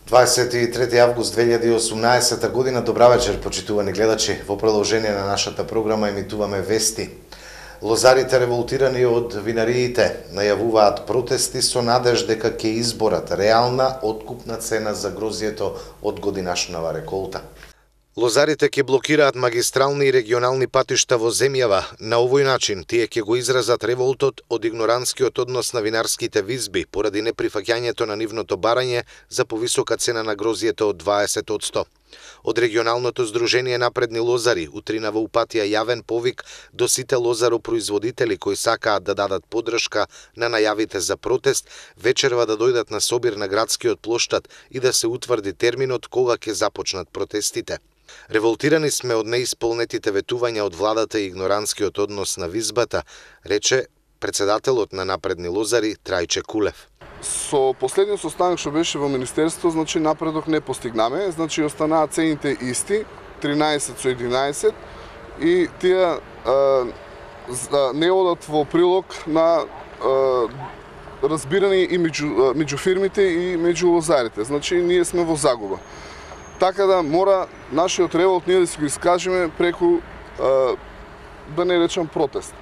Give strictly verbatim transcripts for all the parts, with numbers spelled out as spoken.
дваесет и трети август две илјади и осумнаесета година. Добра вечер, почитувани гледачи. Во продолжение на нашата програма емитуваме вести. Лозарите револтирани од винариите најавуваат протести со надеж дека ќе изборат реална откупна цена за грозјето од годинашнава реколта. Лозарите ќе блокираат магистрални и регионални патишта во земјава. На овој начин тие ќе го изразат револтот од игноранскиот однос на винарските визби поради неприфаќањето на нивното барање за повисока цена на грозјето од дваесет одсто. Од регионалното здружение Напредни лозари утринава упатија јавен повик до сите лозаропроизводители кои сакаат да дадат подршка на најавите за протест, вечерва да дојдат на собир на градскиот плоштад и да се утврди терминот кога ќе започнат протестите. Револтирани сме од неисполнетите ветувања од владата и игноранскиот однос на визбата, рече председателот на Напредни лозари Трајче Кулев. Со последниот состанок што беше во министерство, значи напредок не постигнаме, значи останаа цените исти, тринаесет со единаесет, и тие а, не одат во прилог на а, разбирање и меѓу, меѓу фирмите и меѓу лозарите. Значи ние сме во загуба. Така да мора нашиот револт ние да се го искажеме преку, а, да не речам протест.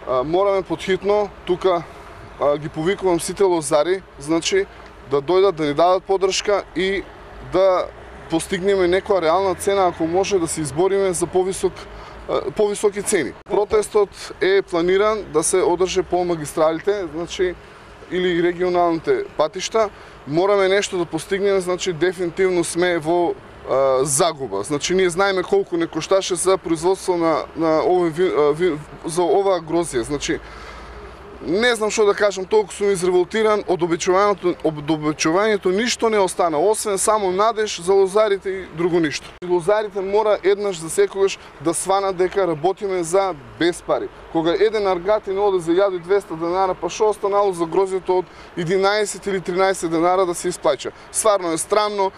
А, мораме подхитно, тука а, ги повикувам сите лозари, значи да дојдат да ни дадат подршка и да постигнеме некоја реална цена, ако може да се избориме за повисок, а, повисоки цени. Протестот е планиран да се одржи по магистралите, значи или регионалните патишта. Мораме нешто да постигнеме, значи дефинитивно сме во а, загуба. Значи ние знаеме колку не кошташе за производство на, на овој ви, ви, за оваа грозија. Значи не знам што да кажам, толку сум изреволтиран, од обичувањето, од обичувањето ништо не остана, освен само надеж за лозарите и друго ништо. Лозарите мора еднаш за секогаш да сванат дека работиме за без пари. Кога еден аргатин оде за илјада и двесте денара, па што останало за грозјето од единаесет или тринаесет денара да се исплаќа. Стварно е странно,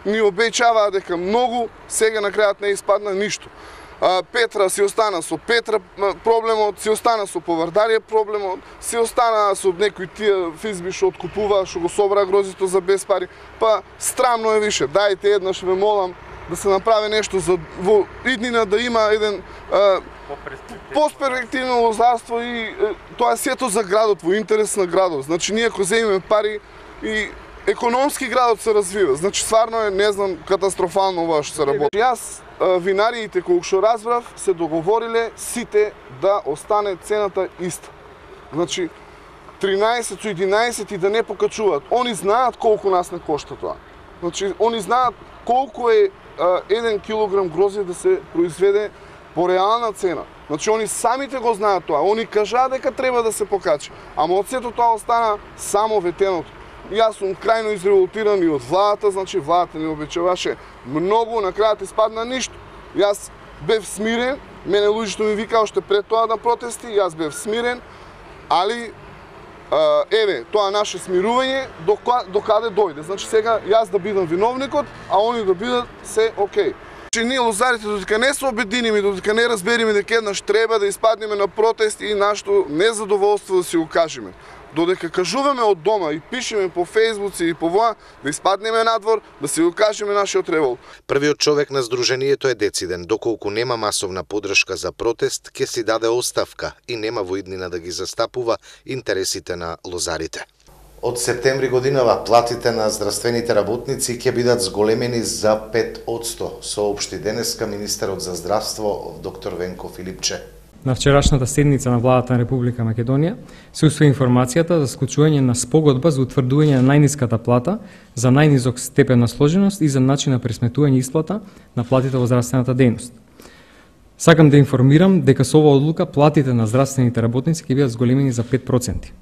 ни обеќаваа дека многу, сега на крајот не испадна ништо. Петра си остана со Петра проблемот, си остана со Повардарија проблемот, си остана со некои тие физби што откупува, што го собра грозито за без пари. Па странно е више, дајте еднаш ве молам да се направи нешто за во иднина да има еден посперспективно лозарство и тоа е сето за градот, во интерес на градот. Значи ние ако земеме пари и економски градот се развива. Значи стварно е, не знам, катастрофално ова што се работи. Јас винариите, колку што разбрав, се договориле сите да остане цената иста. Значи тринаесет со единаесет и да не покачуваат. Они знаат колку нас не кошта тоа. Значи они знаат колку е а, еден килограм грозје да се произведе по реална цена. Значи они самите го знаат тоа. Они кажаа дека треба да се покачи. Ама од сето тоа остана само ветеното. Јас сум крајно изреволтиран и од владата, значи владата не обечаваше многу, на крајот испадна ништо. Јас бев смирен, мене луѓето ми викаа уште пред тоа на протести, јас бев смирен, али а, еве, тоа наше смирување до, до каде дојде. Значи сега јас да бидам виновникот, а они да бидат се окей. Че ние лозарите додека не се обединиме, додека не разбериме дека еднаш треба да испаднеме на протест и нашето незадоволство да си го кажеме. Додека кажуваме од дома и пишеме по фејсбуци и по воа, да испаднеме надвор, да си го кажеме нашиот револт. Првиот човек на здружението е дециден, доколку нема масовна подршка за протест, ќе си даде оставка и нема во иднина да ги застапува интересите на лозарите. Од септември годинава платите на здравствените работници ќе бидат зголемени за пет одсто, соопшти денеска министерот за здравство доктор Венко Филипче. На вчерашната седница на владата на Република Македонија се усвои информацијата за склучување на спогодба за утврдување на најниската плата, за најнизок степен на сложеност и за начин на пресметување исплата на платите во здравствената дејност. Сакам да информирам дека со оваа одлука платите на здравствените работници ќе бидат зголемени за пет проценти.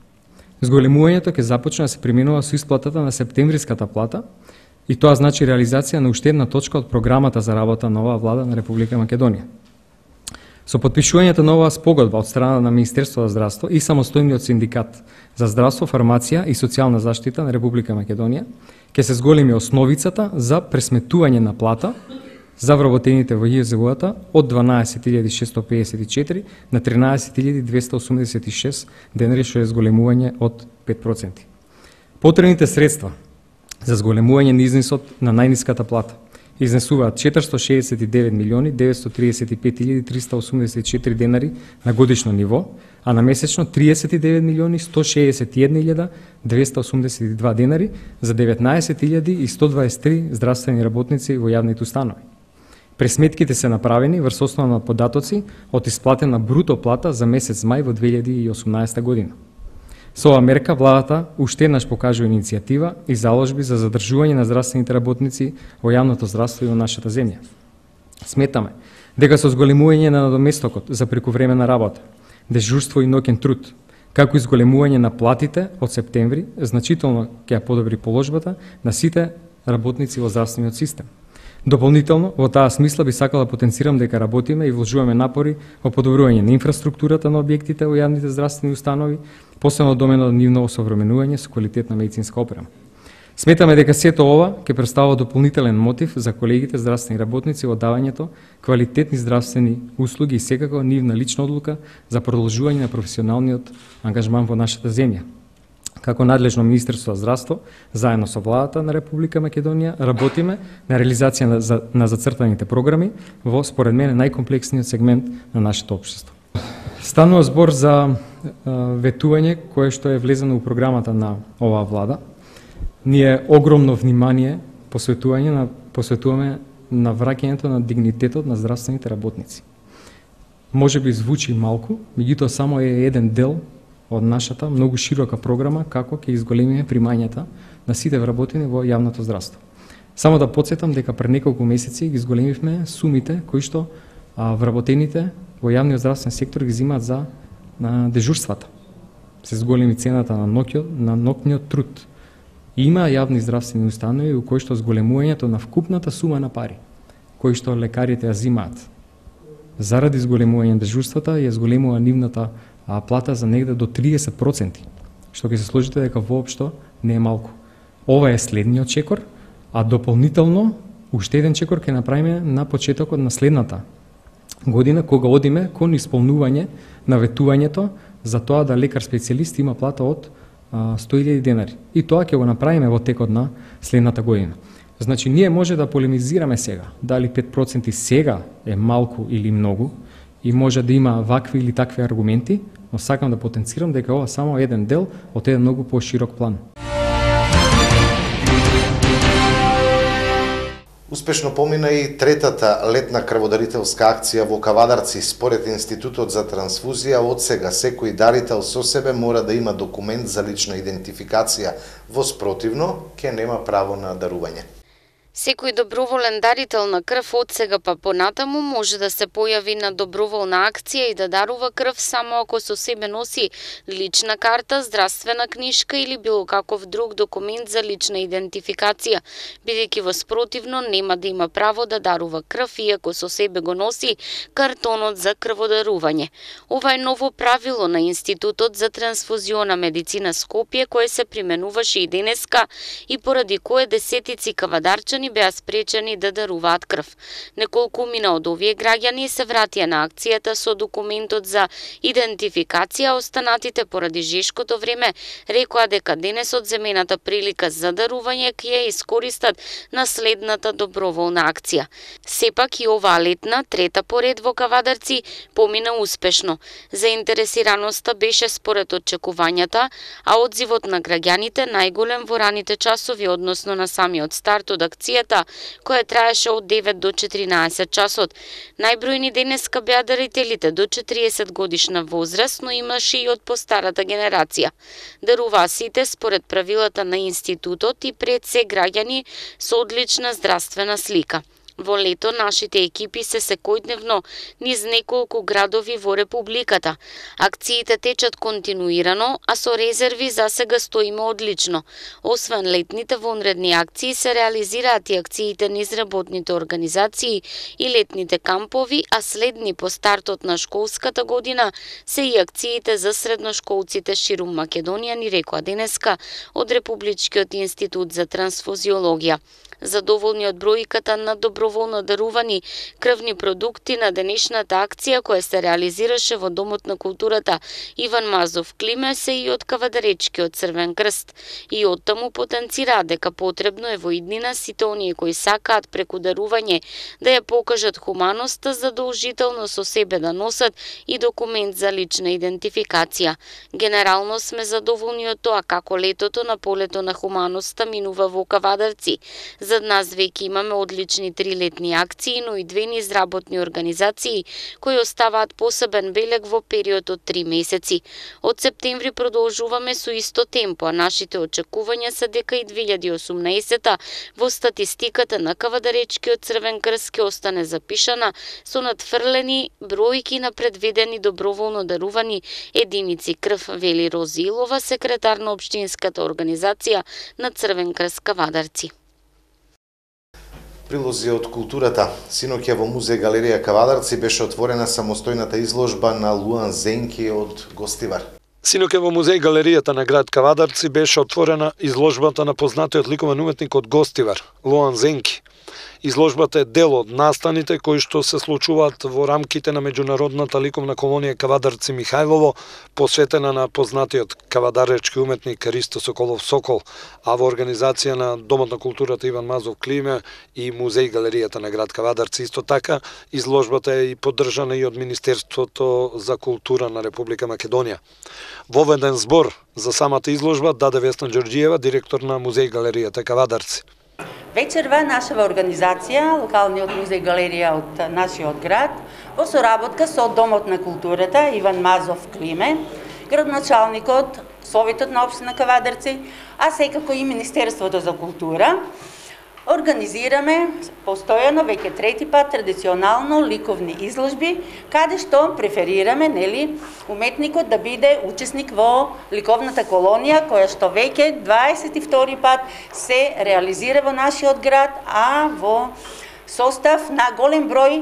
Зголемувањето ќе започне да се применува со исплатата на септемвриската плата и тоа значи реализација на уште една точка од програмата за работа на оваа влада на Република Македонија. Со подпишувањето на оваа спогодба од страна на Министерството за здравство и самостојниот синдикат за здравство, фармација и социјална заштита на Република Македонија ќе се зголеми основицата за пресметување на плата за вработените во Ј З У-та од дванаесет илјади шестоста пеесет и четири на тринаесет илјади двесте осумдесет и шест денари, што е зголемување од пет проценти. Потребните средства за зголемување на изнесот на најниската плата изнесуваат четиристотини шеесет и девет милиони деветстотини триесет и пет илјади триста осумдесет и четири денари на годишно ниво, а на месечно триесет и девет милиони сто шеесет и една илјада двесте осумдесет и два денари за деветнаесет илјади и сто дваесет и три здравствени работници во јавните установи. Пресметките се направени врз основа на податоци од исплатена бруто плата за месец мај во две илјади и осумнаесета година. Со оваа мерка владата уште еднаш покажува иницијатива и заложби за задржување на здравствените работници во јавното здравство и во нашата земја. Сметаме дека со зголемување на надоместокот за прековременна работа, дежурство и ноќен труд, како и зголемување на платите од септември, значително ќе ја подобри положбата на сите работници во здравствениот систем. Дополнително, во таа смисла би сакала да потенцирам дека работиме и вложуваме напори во подобрување на инфраструктурата на објектите во јавните здравствени установи, посебно доменот на нивно осовременување со квалитетна медицинска опрема. Сметаме дека сето ова ќе представува дополнителен мотив за колегите здравствени работници во давањето квалитетни здравствени услуги и секако нивна лична одлука за продолжување на професионалниот ангажман во нашата земја. Како надлежно Министерство за здравство, заедно со владата на Република Македонија, работиме на реализација на, за, на зацртаните програми во, според мене, најкомплексниот сегмент на нашето општество. Станува збор за а, ветување кое што е влезено у програмата на оваа влада. Ние огромно внимание посветување на посветуваме на враќањето на дигнитетот на здравствените работници. Може би звучи малку, меѓутоа само е еден дел од нашата многу широка програма како ќе изголемиме примањата на сите вработени во јавното здравство. Само да потсетам дека пред неколку месеци ги изголемивме сумите кои што а, вработените во јавниот здравствен сектор ги земаат за на дежурствата. Се зголеми цената на ноќот, на ноќниот труд. И има јавни здравствени установи у кои што зголемувањето на вкупната сума на пари кои што лекарите ја земаат заради зголемување на дежурствата ја зголемува нивната а плата за негде до триесет проценти, што ќе се сложите дека воопшто не е малку. Ова е следниот чекор, а дополнително уште еден чекор ќе направиме на почетокот на следната година, кога одиме кон исполнување на ветувањето за тоа да лекар специјалист има плата од сто илјади денари. И тоа ќе го направиме во текот на следната година. Значи, ние може да полемизираме сега, дали пет проценти сега е малку или многу, и може да има вакви или такви аргументи, но сакам да потенцирам дека ова само еден дел од еден многу поширок план. Успешно помина и третата летна крводарителска акција во Кавадарци. Според Институтот за трансфузија, од сега секој дарител со себе мора да има документ за лична идентификација. Во спротивно, ќе нема право на дарување. Секој доброволен дарител на крв од сега па понатаму може да се појави на доброволна акција и да дарува крв само ако со себе носи лична карта, здравствена книжка или било каков друг документ за лична идентификација, бидејќи во спротивно нема да има право да дарува крв иако со себе го носи картонот за крводарување. Ова е ново правило на Институтот за трансфузиона медицина Скопје кое се применуваше и денеска и поради кое десетици кавадарчани беа спречени да даруваат крв. Неколку мина од овие граѓани се вратија на акцијата со документот за идентификација, останатите поради жешкото време рекоа дека денес од земената прилика за дарување ќе ја искористат на следната доброволна акција. Сепак и оваа летна, трета поред во Кавадарци, помина успешно. Заинтересираноста беше според очекувањата, а одзивот на граѓаните најголем во раните часови, односно на самиот старт од акцијата, која траеше од девет до четиринаесет часот. Најбројни денеска беа дарителите до четириесет годишна возраст, но имаше и од постарата генерација. Даруваа сите според правилата на Институтот и пред се граѓани со одлична здравствена слика. Во лето нашите екипи се секојдневно низ неколку градови во Републиката. Акциите течат континуирано, а со резерви за сега стоиме одлично. Освен летните вонредни акции се реализираат и акциите низ работните организации и летните кампови, а следни по стартот на школската година се и акциите за средношколците ширум Македонија, ни рекоа денеска од Републичкиот институт за трансфузиологија. Задоволни од бројката на доброволно дарувани крвни продукти на денешната акција која се реализираше во Домот на културата Иван Мазов Климе се и од Кавадаречкиот Црвен крст. И од таму потенцира дека потребно е во иднина сите оние кои сакаат преку дарување да ја покажат хуманоста задолжително со себе да носат и документ за лична идентификација. Генерално сме задоволни од тоа како летото на полето на хуманоста минува во Кавадарци. Зад нас веќе имаме одлични трилетни акции, но и две низработни организации кои оставаат посебен белег во период од три месеци. Од септември продолжуваме со исто темпо, а нашите очекувања се дека и две илјади и осумнаесета во статистиката на Кавадаречкиот Црвен крст ќе остане запишана со надфрлени бројки на предвидени доброволно дарувани единици крв, вели Рози Илова, секретар на општинската организација на Црвен крст Кавадарци. Прилози од културата. Синоќа во музеј галерија Кавадарци беше отворена самостојната изложба на Луан Зенки од Гостивар. Синоќа во музеј галеријата на град Кавадарци беше отворена изложбата на познатиот ликовен уметник од Гостивар, Луан Зенки. Изложбата е дел од настаните кои што се случуваат во рамките на меѓународната ликовна колонија Кавадарци Михајлово, посветена на познатиот кавадаречки уметник Ристо Соколов Сокол, а во организација на Домот на културата Иван Мазов Климе и музеј галеријата на град Кавадарци. Исто така, изложбата е и поддржана и од Министерството за култура на Република Македонија. Воведен збор за самата изложба даде Весна Ѓорѓиева, директор на музеј галеријата Кавадарци. Вечерва нашава организација, локалниот музеј галерија од нашиот град, во соработка со Домот на културата Иван Мазов Климе, градоначалникот, Советот на општина Кавадарци, а секако и Министерството за култура, организираме постојано веќе трети пат традиционално ликовни изложби, каде што преферираме, нели, уметникот да биде учесник во ликовната колонија, која што веќе дваесет и втори пат се реализира во нашиот град, а во состав на голем број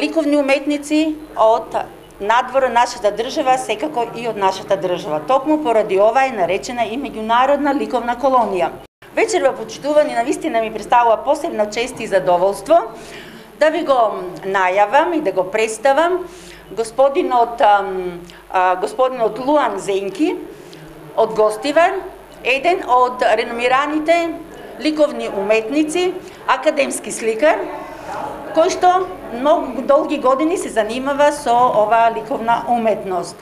ликовни уметници од надвор нашата држава, секако и од нашата држава. Токму поради ова е наречена и меѓународна ликовна колонија. Вечерва почитувани навистина ми представува посебна чест и задоволство да ви го најавам и да го представам господинот, а, господинот Луан Зенки од Гостивар, еден од реномираните ликовни уметници, академски сликар, кој што многу долги години се занимава со оваа ликовна уметност.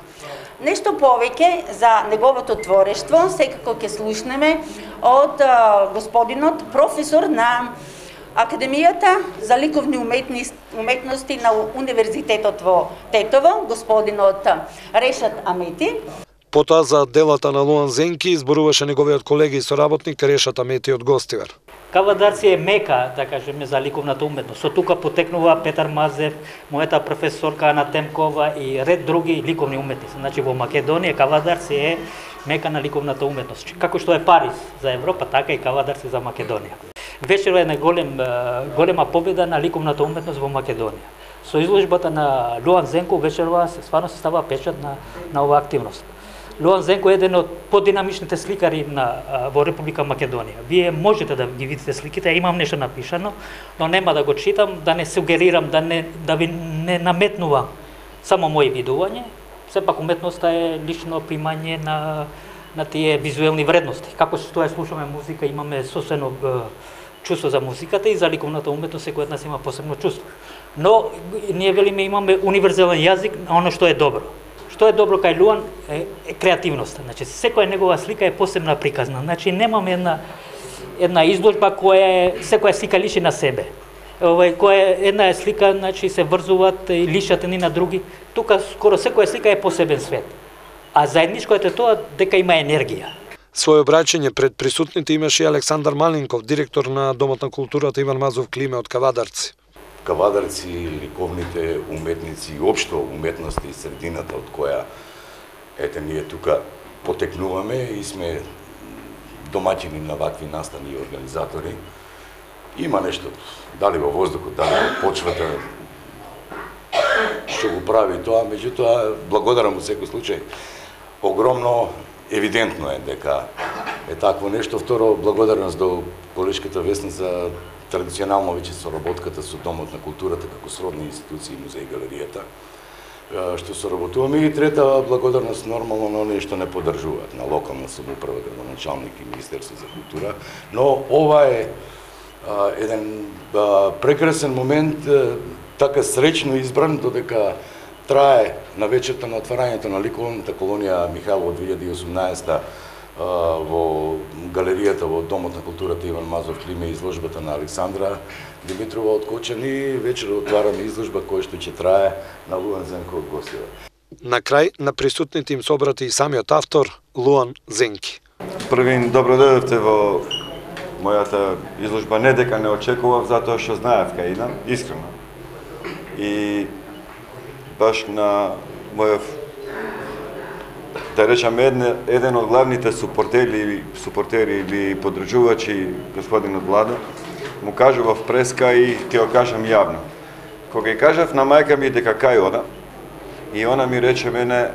Нешто повеќе за неговото творештво секако ќе слушнеме од а, господинот професор на Академијата за ликовни уметности, уметности на Универзитетот во Тетово, господинот Решат Амети. Потоа за делата на Луан Зенки зборуваше неговиот колега и соработник Решат Амети од Гостивар. Кавадарци е мека, да кажеме, за ликовната уметност. Со тука потекнува Петар Мазев, мојата професорка Ана Темкова и ред други ликовни уметници. Значи во Македонија Кавадарци е мека на ликовната уметност. Како што е Париз за Европа, така и Кавадарци за Македонија. Вечерва е на голем, голема победа на ликовната уметност во Македонија. Со изложбата на Луан Зенко вечерва се стварно се става печат на, на оваа активност. Луан Зенко е еден од подинамичните сликари на, во Република Македонија. Вие можете да ги видите сликите, имам нешто напишано, но нема да го читам, да не сугерирам, да, не, да ви не наметнувам само мои видување. Сепак уметноста е лично примање на, на тие визуелни вредности. Како што ја слушаме музика, имаме сосено чувство за музиката и за ликовната уметност, секој од нас има посебно чувство. Но ние велиме имаме универзален јазик на оно што е добро. Што е добро кај Луан е, е креативноста. Значи секоја негова слика е посебна приказна. Значи немаме една една изложба која е секоја слика личи на себе. Овај која една е слика, значи се врзуваат и личат едни на други. Тука скоро секоја слика е посебен свет. А заедничкото е тоа дека има енергија. Своје обраќање пред присутните имаше и Александар Малинков, директор на Домот на културата Иван Мазов Климе од Кавадарци. Кавадарци, ликовните уметници и општо уметноста и средината од која ете ние тука потекнуваме и сме домаќини на вакви настани и организатори. Има нешто, дали во воздухот, дали во почвата, што го прави тоа, меѓутоа благодарам во секој случај. Огромно евидентно е дека е такво нешто. Второ, благодарност до колешката Весна за традиционално веќе соработката со Домот на културата како сродни институции, музеј и галеријата, што соработуваме. И трета, благодарност нормално на оние што не поддржуваат, на локална самоуправа, градоначалник и Министерство за култура. Но ова е а, еден а, прекрасен момент, а, така сречно избран, додека трае на вечерта на отварањето на ликовната колонија Михајлово две илјади и осумнаесета во галеријата во Домот на културата Иван Мазов Климе, изложбата на Александра Димитрова од Кочани, вечер отвараме изложба која што ќе трае на Луан Зенко од Гостивар. На крај на присутните им собрати и самиот автор Луан Зенки. Првин, добро дојдовте во мојата изложба. Не дека не очекував, затоа што знаев кај идам, искрено. И баш на мојов, да речам, едне, еден од главните супортери, супортери или поддржувачи, господинот Владо, му кажував преска и ќе го кажам јавно. Кога ја кажав на мајка ми дека кај ода, и она ми рече мене,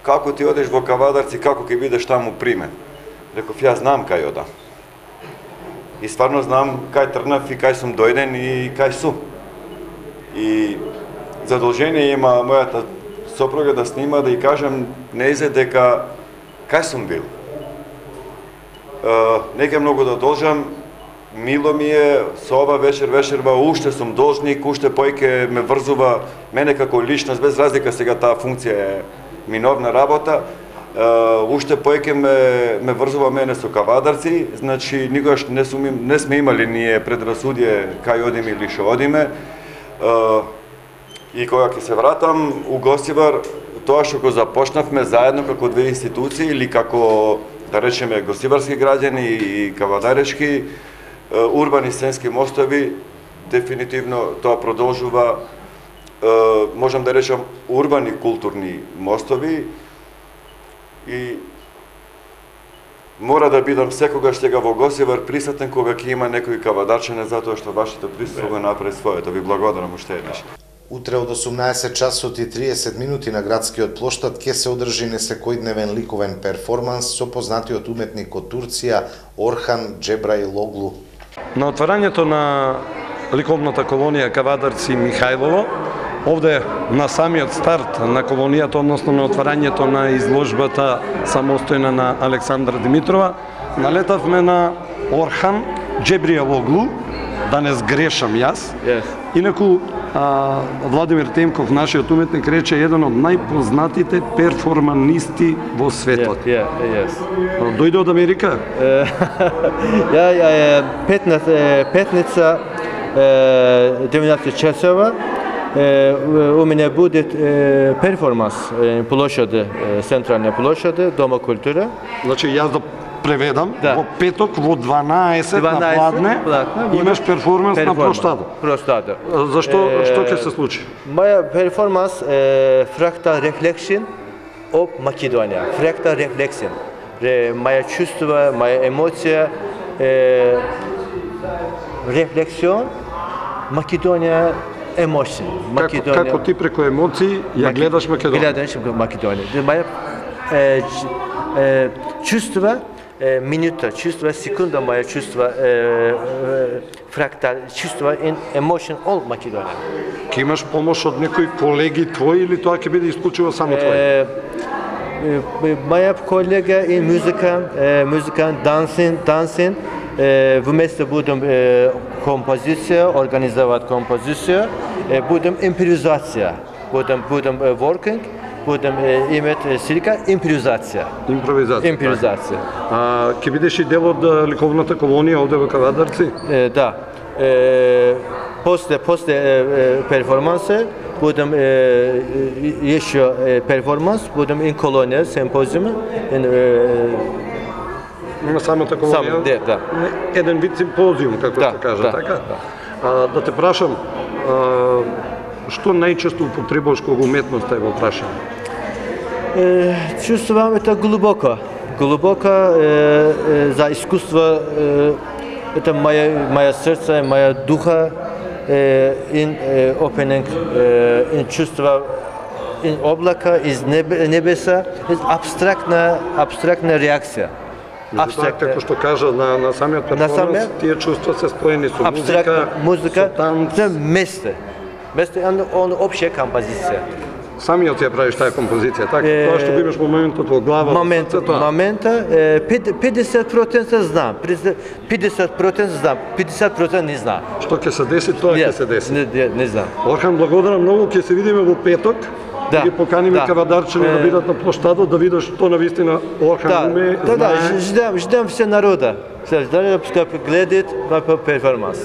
како ти одеш во Кавадарци, како ќе бидеш таму примен? Реков, ја знам кај ода. И стварно знам кај тргнав и кај сум дојден и кај сум. И задолжение има мојата сопруга да снима, да ја кажам неизе дека кај сум бил. Не ќе многу да должам, мило ми е, со ова вечер вечерва, уште сум должник, уште појке ме врзува, мене како личност, без разлика сега таа функција е минорна работа, уште појке ме, ме врзува мене со Кавадарци, значи никогаш не, сум, не сме имали ние предрасудие кај одиме или шо одиме. И кога ќе се вратам у Гостивар, тоа што го започнавме заедно како две институции или како, да речеме, гостиварски граѓани и кавадарешки урбани сценски мостови, дефинитивно тоа продолжува, можам да речам, урбани културни мостови и мора да бидам секогаш сега во Гостивар присутен кога ќе има некој кавадарчене, затоа што вашето присуство го направи своето. Ви благодарам уште еднаш. Утре од осумнаесет часот и триесет минути на градскиот плоштад ќе се одржи несекојдневен ликовен перформанс со познатиот уметник од Турција Орхан Джебраилоглу. На отварањето на ликовната колонија Кавадарци Михајлово, овде на самиот старт на колонијата, односно на отварањето на изложбата самостојна на Александра Димитрова, налетавме на Орхан Джебраилоглу, да не сгрешам јас. Yes. Инаку а, Владимир Темков, нашиот уметник, рече еден од најпознатите перформанисти во светот. Yeah, yeah, yes. Дојде од Америка? Ја, ја, петница, деветнаесет часова, у мене будет перформанс площади, централна площади, Дома култура. Значи јас да преведам, да. Во петок во дванаесет на Пладне имаш перформанс, перформанс на Плоштада. Плоштада. Зашто, е, што ќе се случи? Моја перформанс е Fractal Reflection of Makedonia. Fractal Reflection. Моја чувства, моја емоција е рефлексион Македонија emotion. Како, како ти преку емоции ја гледаш Македонија? Гледаш Македонија. Моја е, е, чувства минута, чувства, секунда моја чувства, фрактал, чувства in emotion all Македонија. Ке имаш помош од некои колеги твои или тоа ќе биде исклучиво само твој? Моја колега и музика, музика, dancing, dancing, вместо будем композиција, организовать композиција, будем импровизација, будем будем working, будем имати слика импровизација. Импровизација. Импровизација. А ќе бидеш и дел од ликовната колонија овде во Кавадарци? Е, да. Е, после после перформанса будем ешо перформанс, будем ин колонија, симпозиум, ин на самата колонија. Сам, да, да. Еден вид симпозиум, како да, се кажа, да, така? Да. А, да те прашам, а, што најчесто употребуваш кога уметноста е во прашање? Чувствувам это глубоко. Глубоко е, е, за искуство, е, это моја моја срце, моја духа, е, in е, opening, е, in чувства, in облака, из небеса, из абстрактна, абстрактна реакција. Абстрактно, како што кажа на на самиот перформанс, тие чувства се споени со музика, музика, со танц, месте. Месте он он општа композиција. Самиот ја правиш таа композиција, така? Тоа што имаш моментот во глава. Момент, момента педесет проценти знам, педесет проценти знам, педесет проценти не знам. Што ќе се деси, тоа ќе се деси. Не, не знам. Орхан, благодарам многу, ќе се видиме во петок. Да, ги поканиме да. Кавадарчани да бидат на площадот, да видат што навистина Орхан да, уме, да, знае. Да, ждам, ждам все народа. Се ждам да гледат на перформанс.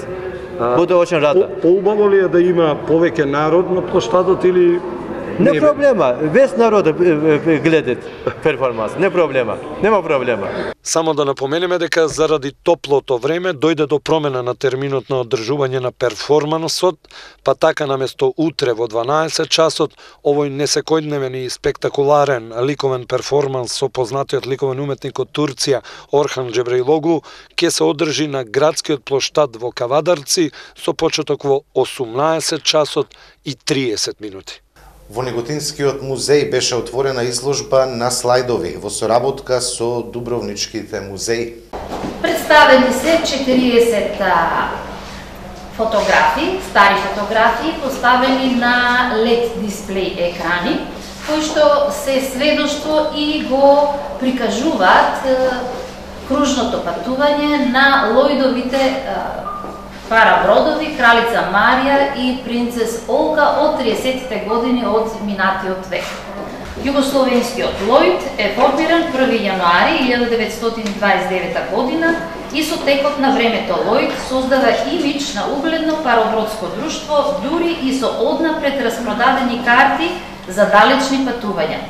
Буду очень рада. Поубаво ли е да има повеќе народ на площадот или не, не проблема, весь народ гледат перформанс, не проблема, нема проблема. Само да напоменеме дека заради топлото време дојде до промена на терминот на одржување на перформансот, па така наместо утре во дванаесет часот, овој несекојдневен и спектакуларен ликовен перформанс со познатиот ликовен уметник од Турција Орхан Джебрейлоглу ќе се одржи на градскиот плоштад во Кавадарци со почеток во осумнаесет часот и триесет минути. Во Неготинскиот музеј беше отворена изложба на слайдови во соработка со Дубровничките музеи. Представени се четириесет фотографии, стари фотографии, поставени на лед дисплей екрани, кои што се сведоштво и го прикажуваат кружното патување на Лојдовите парабродови, кралица Марија и принцес Олга од триесеттите години од минатиот век. Југословенскиот Лојд е формиран први јануари илјада деветстотини дваесет и девета година и со текот на времето Лојд создава имидж на угледно паробродско друштво, дури и со однапред распродадени карти за далечни патувања.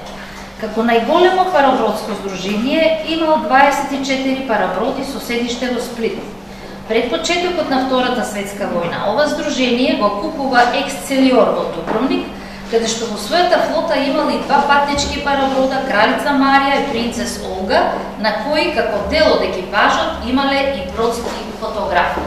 Како најголемо паробродско здружение имал дваесет и четири параброди со седиште во Сплит. Пред почетокот на Втората светска војна, ова здружение го купува Ексцелиор во Дубровник, каде што во својата флота имал и два патнички параброда, кралица Марија и принцес Олга, на кои како дел од екипажот имале и бродски фотографи.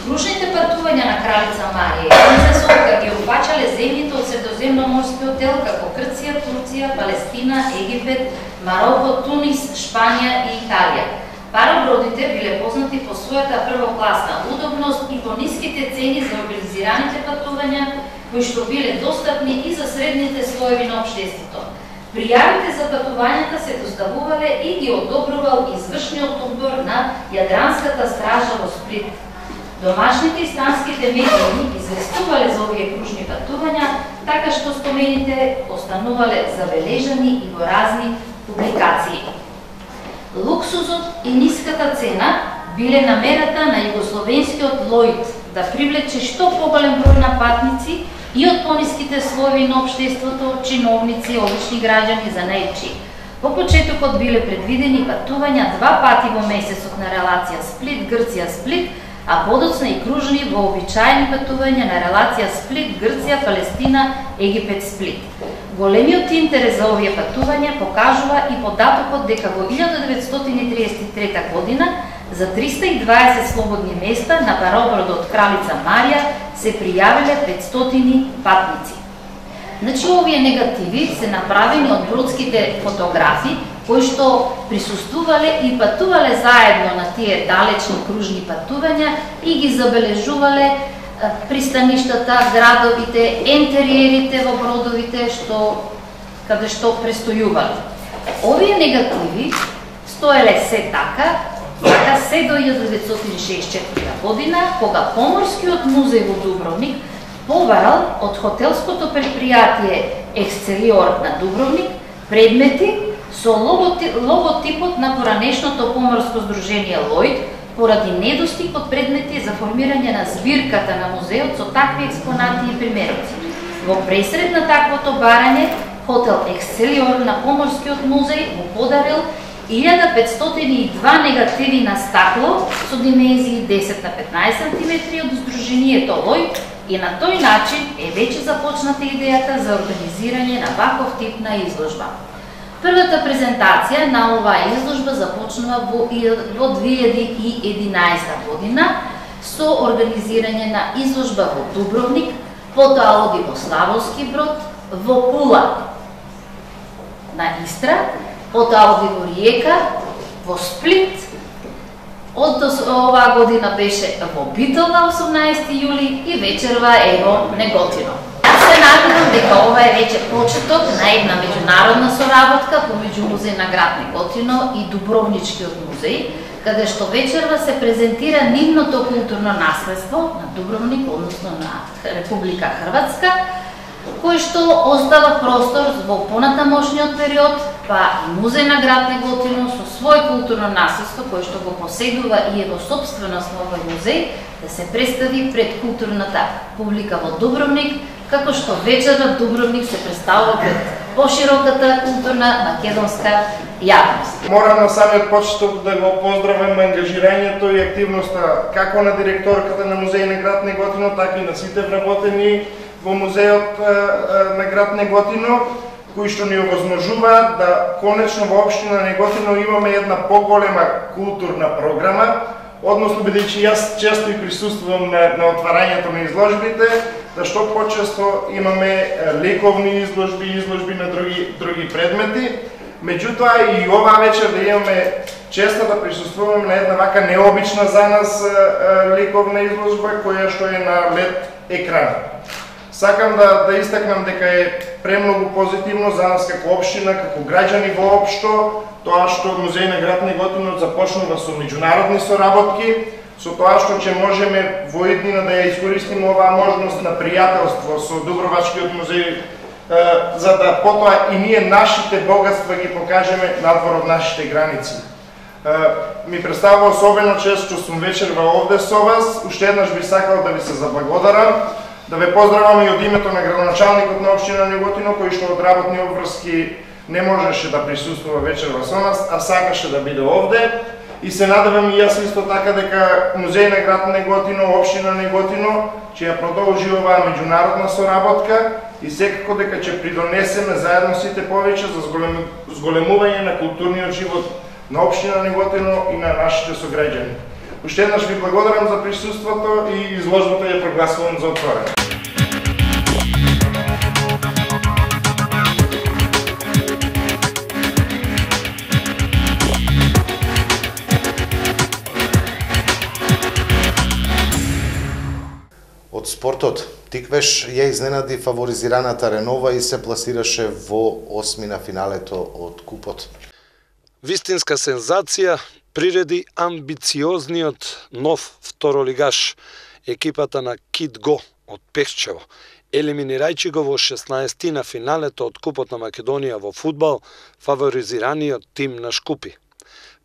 Кружните патувања на кралица Марија и принцес Олга ги опфаќале земјите од Средоземноморскиот дел како Грција, Турција, Палестина, Египет, Мароко, Тунис, Шпанија и Италија. Парабродите биле познати по својата првокласна удобност и по ниските цени за организираните патувања, кои што биле достапни и за средните слоеви на општеството. Пријавите за патувањата се доставувале и ги одобрувал извршниот одбор на Јадранската стража во Сплит. Домашните и странските медии известувале за овие кружни патувања, така што спомените останувале забележани и во разни публикации. Луксузот и ниската цена биле намерата на југословенскиот Лојд да привлече што поголем број на патници и од пониските слоеви на општеството, чиновници, обични граѓани за најчи. По почетокот биле предвидени патувања два пати во месецот на релација Сплит-Грција-Сплит, а подоцна и кружни вообичаени патувања на релација Сплит-Грција, Палестина, Египет-Сплит. Големиот интерес за овие патувања покажува и податокот дека во илјада деветстотини триесет и трета година за триста и дваесет слободни места на паробродот Кралица Марија се пријавиле петстотини патници. Значи, овие негативи се направени од бродските фотографи, кои што присуствувале и патувале заедно на тие далечни кружни патувања и ги забележувале пристаништата, градовите, ентериерите во бродовите што каде што престојувале. Овие негативи стоеле се така, така се до илјада деветстотини шеесет и четврта година, кога Поморскиот музеј во Дубровник побарал од хотелското предпријатие Ексцелиор на Дубровник предмети со логотипот на поранешното поморско здружение Лојд, поради недостиг од предмети за формирање на збирката на музеот со такви експонати и примероци. Во пресред на таквото барање, хотел Ексцелиор на Поморскиот музеј му подарил илјада петстотини и два негативи на стакло со димензии десет на петнаесет сантиметри од здружението Лојд и на тој начин е веќе започната идејата за организирање на ваков тип на изложба. Првата презентација на оваа изложба започнува во две илјади и единаесета година со организирање на изложба во Дубровник, потоа оди во Славовски Брод, во Пула на Истра, потоа оди во Риека, во Сплит, од оваа година беше во Битола осумнаесети јули и вечерва е во Неготино. Се надевам дека ова е веќе почеток на една меѓународна соработка помеѓу Музеј на град Неготино и Дубровничкиот музеј, каде што вечерва се презентира нивното културно наследство на Дубровник, односно на Република Хрватска, кој што оздава простор во понатамошниот период, па и Музеј на град Неготино со свој културно наследство, кој што го поседува и е во собственост на овој музеј, да се представи пред културната публика во Дубровник, како што вечерва Дубровник се представува пред пошироката културна македонска јавност. Морам на самиот почеток да го поздравам ангажирањето и активноста како на директорката на Музеј на град Неготино, така и на сите вработени во музејот на град Неготино, кои што ни овозможуваат да конечно во општина Неготино имаме една поголема културна програма, односно бидејќи јас често и присуствувам на, на отварањето на изложбите, да што почесто имаме лековни изложби, изложби на други други предмети. Меѓутоа и оваа вечер да имаме честа да присуствуваме на една вака необична за нас лековна изложба која што е на лед екран. Сакам да, да истакнам дека е премногу позитивно за нас како општина, како граѓани воопшто, тоа што Музеј на град Неготино започнува со меѓународни соработки, со тоа што ќе можеме во иднина да ја искористиме оваа можност на пријателство со Дубровачкиот музеј, за да потоа и ние нашите богатства ги покажеме надвор од нашите граници. Ми представува особено чест што сум вечерва овде со вас. Уште еднаш би сакал да ви се заблагодарам, да ве поздравам и од името на градоначалникот на општина Неготино, кој што од работни обврски не можеше да присуствува вечерва со нас, а сакаше да биде овде. И се надевам и јас исто така дека Музеј на град Неготино, општина Неготино ќе ја продолжи оваа меѓународна соработка и секако дека ќе придонесеме заедно сите повеќе за зголемување на културниот живот на општина Неготино и на нашите сограѓани. Уште еднаш ви благодарам за присуството и изложбата ја прогласувам за отворена. Од спортот, Тиквеш ја изненади фаворизираната Ренова и се пласираше во осми на финалето од купот. Вистинска сензација приреди амбициозниот нов второлигаш, екипата на Кит Го од Пехчево, елиминирајќи го во шеснаесети на финалето од Купот на Македонија во фудбал, фаворизираниот тим на Шкупи.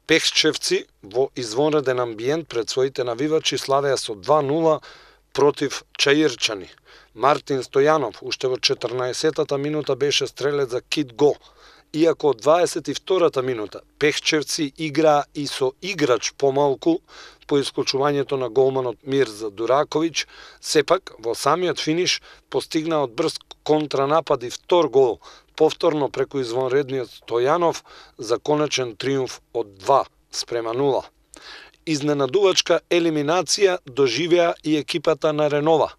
Пехчевци во извонреден амбиент пред своите навивачи славеа со два нула против Чаирчани. Мартин Стојанов уште во четрнаесеттата минута беше стрелец за Кит Го, иако од дваесет и втората минута Пехчевци играа и со играч помалку по исклучувањето на голманот Мирза Дураковиќ, сепак во самиот финиш постигнаа од брз контранапад и втор гол, повторно преку извонредниот Стојанов за конечен триумф од два спрема нула. Изненадувачка елиминација доживеа и екипата на Ренова,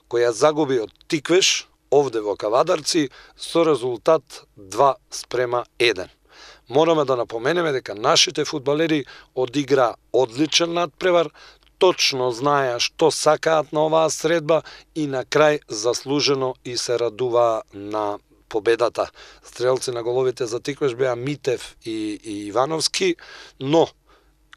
која загуби од Тиквеш овде во Кавадарци со резултат два спрема еден. Мораме да напоменеме дека нашите фудбалери одигра одличен надпревар, точно знаеа што сакаат на оваа средба и на крај заслужено и се радуваа на победата. Стрелци на головите за Тиквеш беа Митев и, и Ивановски, но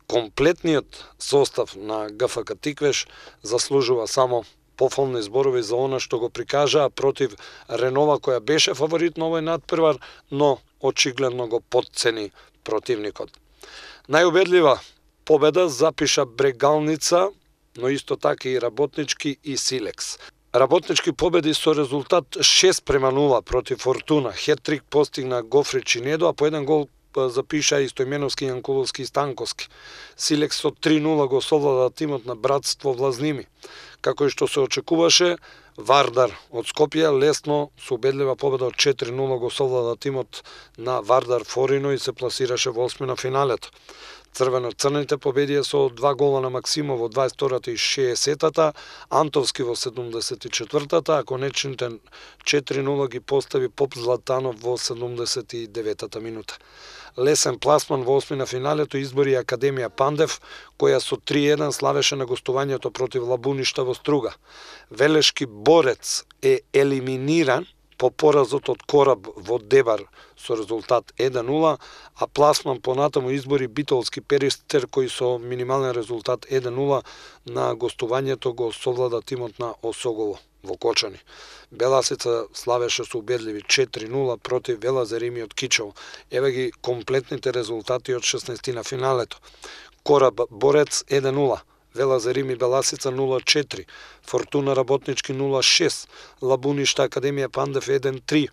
комплетниот состав на ГФК Тиквеш заслужува само пофолни зборови за она што го прикажаа против Ренова, која беше фаворит на овој надпревар, но очигледно го потцени противникот. Најубедлива победа запиша Брегалница, но исто така и Работнички и Силекс. Работнички победи со резултат шест према нула против Фортуна. Хет-трик постигна Гофри Чинедо, а по еден гол запиша и Стојменовски, Јанкуловски и Станковски. Силекс со три нула го совлада тимот на Братство Влазними. Како и што се очекуваше, Вардар од Скопје лесно со убедлива победа од четири нула го совлада тимот на Вардар Форино и се пласираше во осми на финалето. Црвено-црните победија со два гола на Максимов во дваесет и втората и шеесеттата, Антовски во седумдесет и четвртата, а конечните четири нула ги постави Поп Златанов во седумдесет и деветата минута. Лесен пласман во осми на финалето избори Академија Пандев, која со три еден славеше на гостувањето против Лабуништа во Струга. Велешки Борец е елиминиран по поразот од Кораб во Дебар со резултат еден нула, а Пласман понатаму избори Битолски Перистер кој со минимален резултат еден нула на гостувањето го совлада тимот на Осогово во Кочани. Беласица славеше со убедливи четири нула против Велазарими од Кичево. Еве ги комплетните резултати од шеснаесет на финалето. Кораб Борец еден нула, Велазарими Беласица нула четири, Фортуна Работнички нула шест, Лабуништа Академија Пандев еден три,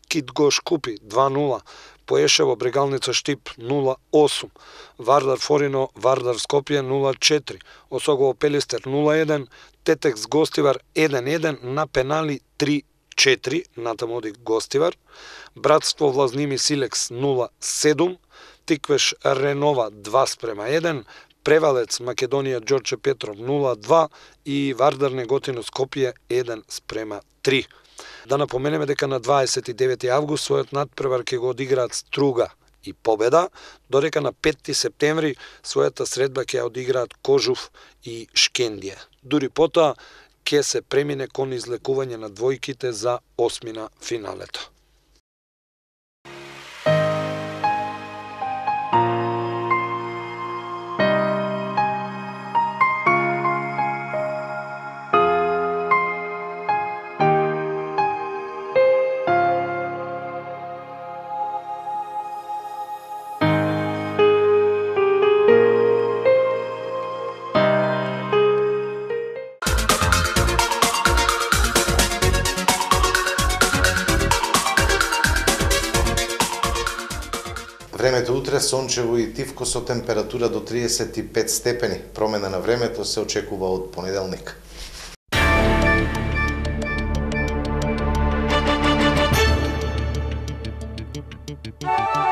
Кит Гош Купи два нула, Поешево Брегалница Штип нула осум, Вардар Форино Вардар Скопје нула четири, Осогово Пелистер нула еден, Тетекс Гостивар еден еден на пенали три четири, натаму оди Гостивар, Братство Влазними Силекс нула седум, Тиквеш Ренова два спрема еден, Превалец Македонија Ѓорче Петров нула два и Вардар Неготино Скопје еден спрема три. Да напоменеме дека на дваесет и девети август својот надпревар ќе го одиграат Струга и Победа, додека на петти септември својата средба ќе одиграат Кожув и Шкендија. Дури потоа ќе се премине кон излекување на двојките за осмина финалето. Времето утре сончево и тивко со температура до триесет и пет степени. Промена на времето се очекува од понеделник. Thank you.